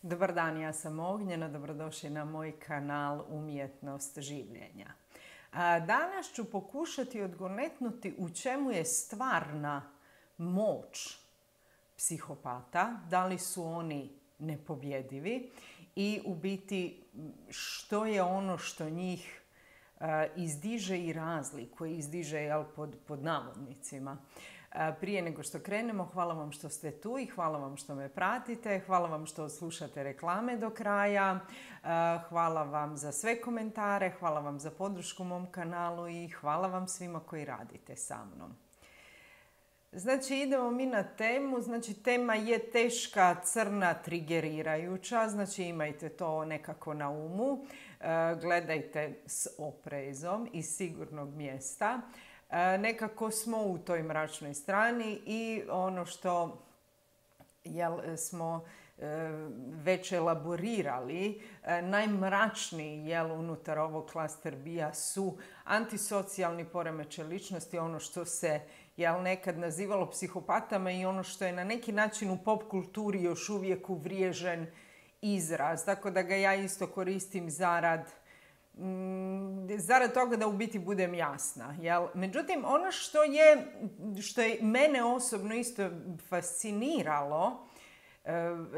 Dobar dan, ja sam Ognjena, dobrodošli na moj kanal Umjetnost življenja. Danas ću pokušati odgonetnuti u čemu je stvarna moć psihopata, da li su oni nepobjedivi i u biti što je ono što njih izdiže i razlikuje, izdiže pod navodnicima. Prije nego što krenemo, hvala vam što ste tu i hvala vam što me pratite, hvala vam što slušate reklame do kraja, hvala vam za sve komentare, hvala vam za podršku mom kanalu i hvala vam svima koji radite sa mnom. Znači, idemo mi na temu. Znači, tema je teška, crna, trigerirajuća. Znači, imajte to nekako na umu. Gledajte s oprezom iz sigurnog mjesta. Nekako smo u toj mračnoj strani i ono što smo već elaborirali, najmračniji unutar ovog klaster bija su antisocijalni poremećaj ličnosti, ono što se nekad nazivalo psihopatama i ono što je na neki način u pop kulturi još uvijek uvriježen izraz. Tako da ga ja isto koristim zarad toga da u biti budem jasna. Međutim, ono što je mene osobno isto fasciniralo,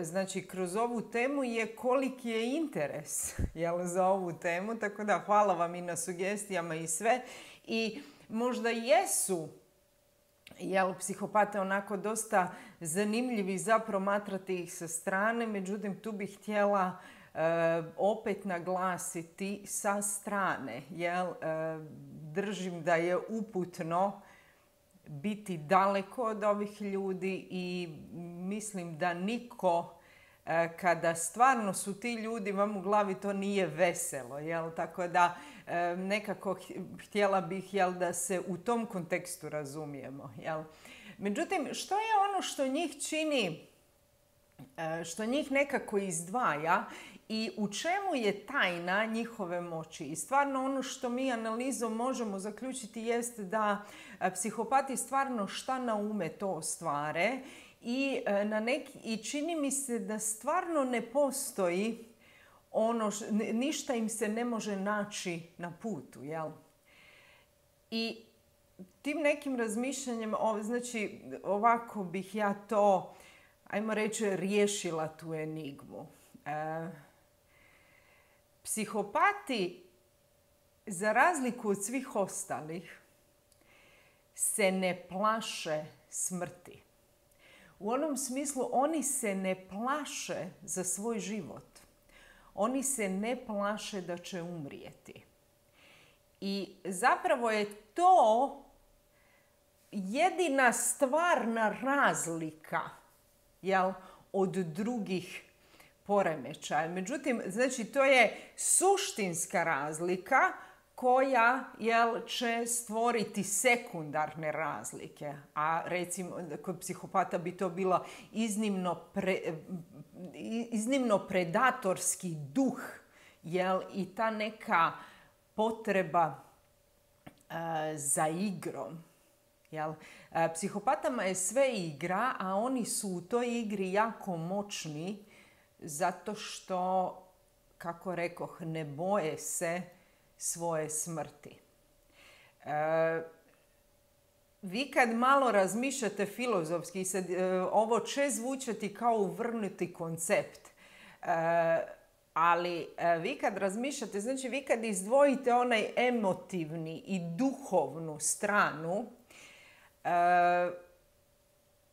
znači kroz ovu temu, je koliki je interes za ovu temu. Tako da hvala vam i na sugestijama i sve. I možda jesu psihopate onako dosta zanimljivi za promatrati ih sa strane, međutim tu bih htjela opet naglasiti sa strane. Držim da je uputno biti daleko od ovih ljudi i mislim da niko, kada stvarno su ti ljudi vam u glavi, to nije veselo. Tako da nekako htjela bih da se u tom kontekstu razumijemo. Međutim, što je ono što njih čini, što njih nekako izdvaja i u čemu je tajna njihove moći? I stvarno ono što mi analizom možemo zaključiti jest da psihopati stvarno šta na ume to ostvare i čini mi se da stvarno ne postoji ništa im se ne može naći na putu. I tim nekim razmišljanjem, znači ovako bih ja to, ajmo reći, riješila tu enigmu. Psihopati, za razliku od svih ostalih, se ne plaše smrti. U onom smislu, oni se ne plaše za svoj život. Oni se ne plaše da će umrijeti. I zapravo je to jedina stvarna razlika od drugih poremećaja. Međutim, znači, to je suštinska razlika koja će stvoriti sekundarne razlike. A recimo, kod psihopata bi to bilo iznimno predatorski duh i ta neka potreba za igrom. Psihopatama je sve igra, a oni su u toj igri jako moćni zato što, kako rekoh, ne boje se svoje smrti. Vi kad malo razmišljate filozofski, ovo će zvučati kao uvrnuti koncept, ali vi kad razmišljate, znači vi kad izdvojite onaj emotivni i duhovnu stranu,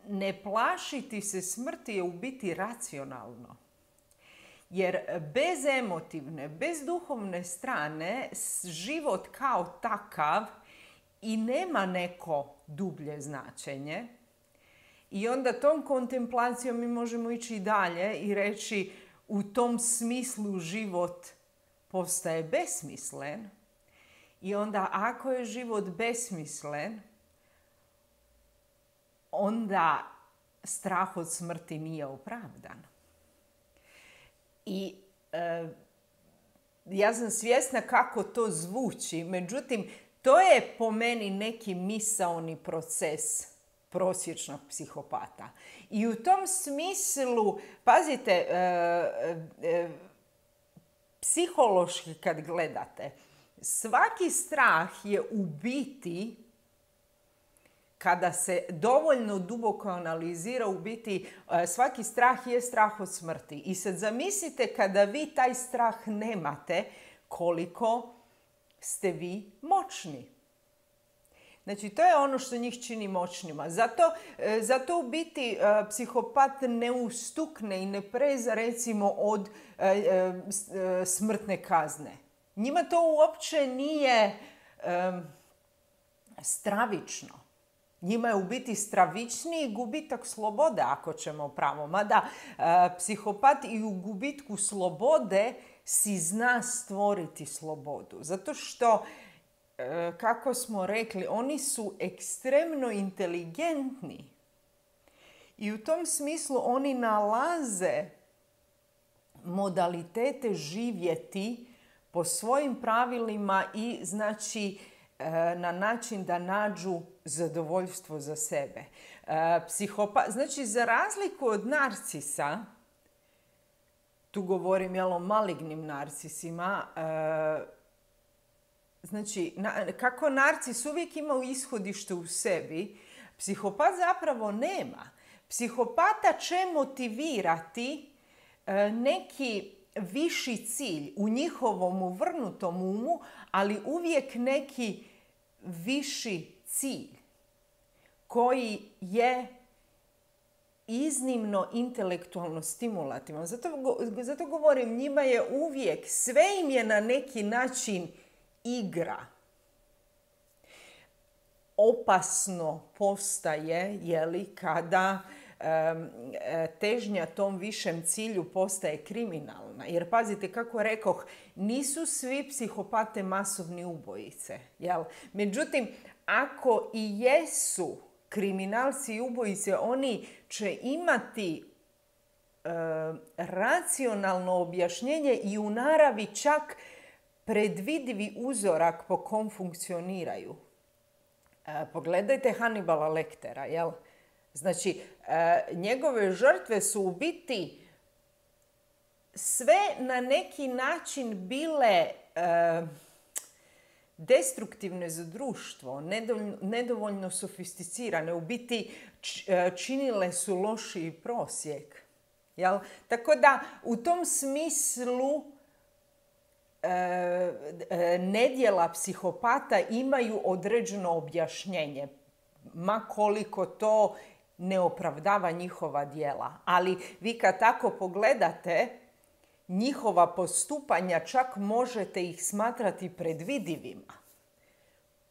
ne plašiti se smrti je u biti racionalno. Jer bez emotivne, bez duhovne strane, život kao takav i nema neko dublje značenje. I onda tom kontemplacijom mi možemo ići dalje i reći, u tom smislu život postaje besmislen. I onda ako je život besmislen, onda strah od smrti nije opravdan. I ja sam svjesna kako to zvuči, međutim, to je po meni neki misaoni proces prosječnog psihopata. I u tom smislu, pazite, psihološki kad gledate, svaki strah je u biti, kada se dovoljno duboko analizira, u biti svaki strah je strah od smrti. I sad zamislite kada vi taj strah nemate, koliko ste vi moćni. Znači, to je ono što njih čini moćnima. Zato u biti psihopat ne ustukne i ne preza, recimo, od smrtne kazne. Njima to uopće nije stravično. Njima je u biti stravičniji gubitak slobode, ako ćemo pravo. Mada psihopat i u gubitku slobode si zna stvoriti slobodu. Zato što, kako smo rekli, oni su ekstremno inteligentni. I u tom smislu oni nalaze modalitete živjeti po svojim pravilima i znači na način da nađu zadovoljstvo za sebe. Znači, za razliku od narcisa, tu govorim o malignim narcisima, znači, kako narcis uvijek ima ishodište u sebi, psihopat zapravo nema. Psihopata će motivirati neki viši cilj u njihovom uvrnutom umu, ali uvijek neki viši cilj koji je iznimno intelektualno stimulativan. Zato govorim, njima je uvijek, sve im je na neki način igra. Opasno postaje, kada težnja tom višem cilju postaje kriminalna. Jer pazite, kako rekoh, nisu svi psihopate masovni ubojice. Međutim, ako i jesu kriminalci i ubojice, oni će imati racionalno objašnjenje i u naravi čak predvidivi uzorak po kom funkcioniraju. Pogledajte Hannibala Lectera, Znači, njegove žrtve su u biti sve na neki način bile destruktivne za društvo, nedovoljno sofisticirane, u biti činile su lošiji prosjek. Tako da, u tom smislu nedjela psihopata imaju određeno objašnjenje, ma koliko to ne opravdava njihova djela. Ali vi kad tako pogledate, njihova postupanja čak možete ih smatrati predvidivima.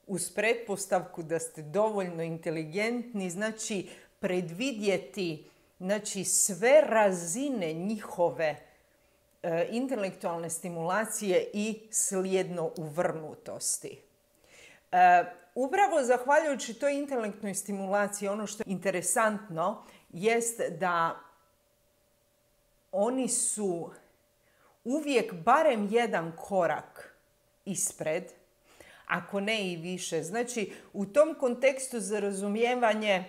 Uz pretpostavku da ste dovoljno inteligentni, znači predvidjeti sve razine njihove intelektualne stimulacije i slijedno uvrnutosti. Upravo zahvaljujući toj intelektnoj stimulaciji, ono što je interesantno jest da oni su uvijek barem jedan korak ispred, ako ne i više. Znači, u tom kontekstu za razumijevanje,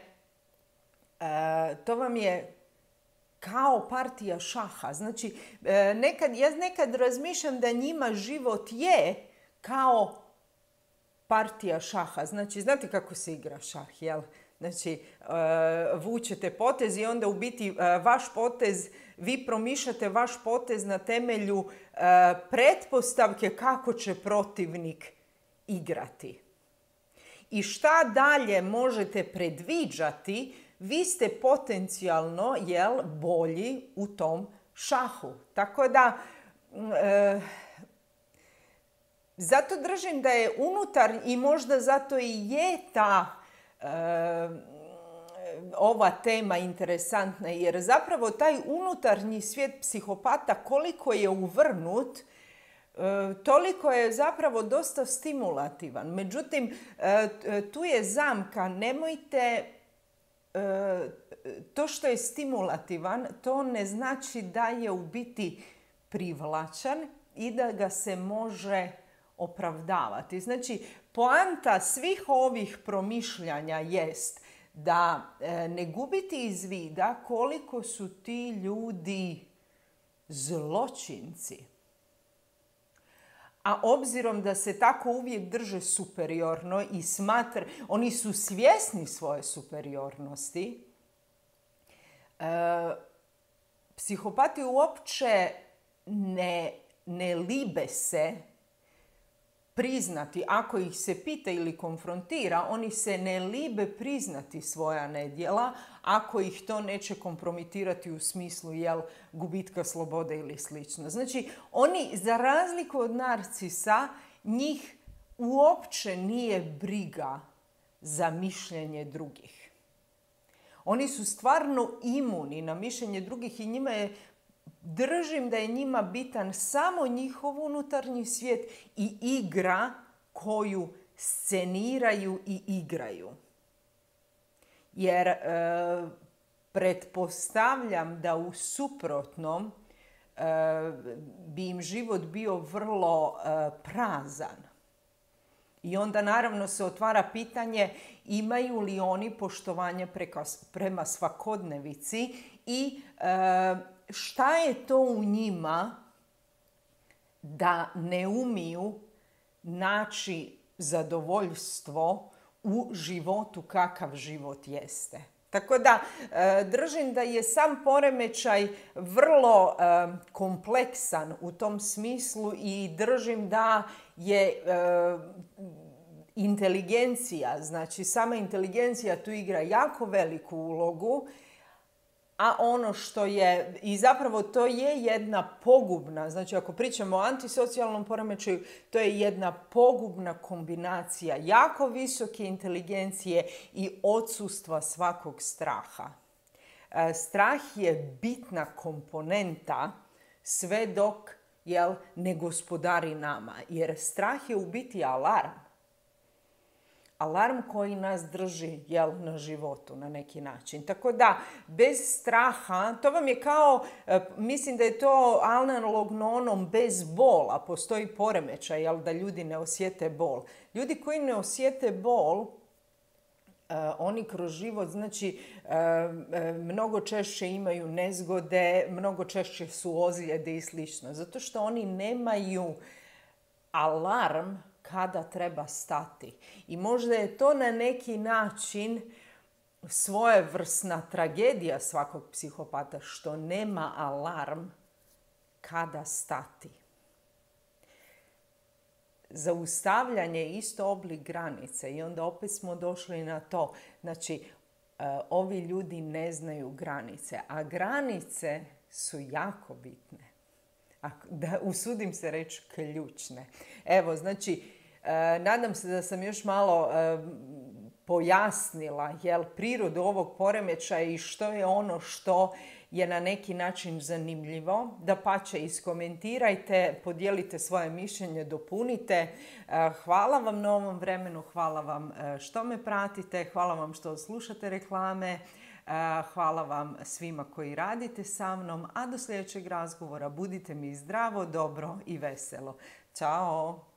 to vam je kao partija šaha. Znači, ja nekad razmišljam da njima život je kao partija šaha. Znači, znate kako se igra šah, Znači, vučete potez i onda u biti vaš potez, vi promišljate vaš potez na temelju pretpostavke kako će protivnik igrati. I šta dalje možete predviđati, vi ste potencijalno, bolji u tom šahu. Tako da, zato držim da je unutar i možda zato i je ta ova tema interesantna, jer zapravo taj unutarnji svijet psihopata, koliko je uvrnut, toliko je zapravo dosta stimulativan. Međutim, tu je zamka, nemojte, to što je stimulativan, to ne znači da je u biti privlačan i da ga se može opravdavati. Znači, poanta svih ovih promišljanja jest da ne gubiti iz vida koliko su ti ljudi zločinci. A obzirom da se tako uvijek drže superiorno i oni su svjesni svoje superiornosti, psihopati uopće ne libe se priznati, ako ih se pita ili konfrontira, oni se ne libe priznati svoja nedjela ako ih to neće kompromitirati u smislu gubitka slobode ili slično. Znači, oni, za razliku od narcisa, njih uopće nije briga za mišljenje drugih. Oni su stvarno imuni na mišljenje drugih i držim da je njima bitan samo njihov unutarnji svijet i igra koju sceniraju i igraju. Jer pretpostavljam da u suprotnom bi im život bio vrlo prazan. I onda naravno se otvara pitanje imaju li oni poštovanje prema svakodnevici i šta je to u njima da ne umiju naći zadovoljstvo u životu kakav život jeste. Tako da držim da je sam poremećaj vrlo kompleksan u tom smislu i držim da je inteligencija, znači sama inteligencija tu igra jako veliku ulogu, a ono što je, i zapravo to je jedna pogubna, znači ako pričamo o antisocijalnom poremećaju, to je jedna pogubna kombinacija jako visoke inteligencije i odsustva svakog straha. Strah je bitna komponenta sve dok ne gospodari nama, jer strah je u biti alarm. Alarm koji nas drži na životu na neki način. Tako da, bez straha, to vam je kao, mislim da je to analogno onom bez bola. Postoji poremećaj, da ljudi ne osjete bol. Ljudi koji ne osjete bol, oni kroz život, znači, mnogo češće imaju nezgode, mnogo češće su ozljede i slično. Zato što oni nemaju alarm kada treba stati. I možda je to na neki način svojevrsna tragedija svakog psihopata, što nema alarm kada stati. Zaustavljanje je isto oblik granice i onda opet smo došli na to. Znači, ovi ljudi ne znaju granice, a granice su jako bitne. Usudim se reći ključne. Evo, znači, nadam se da sam još malo pojasnila prirodu ovog poremećaja i što je ono što je na neki način zanimljivo. Dapače, iskomentirajte, podijelite svoje mišljenje, dopunite. Hvala vam na ovom vremenu, hvala vam što me pratite, hvala vam što slušate reklame, hvala vam svima koji radite sa mnom, a do sljedećeg razgovora budite mi zdravo, dobro i veselo. Ćao!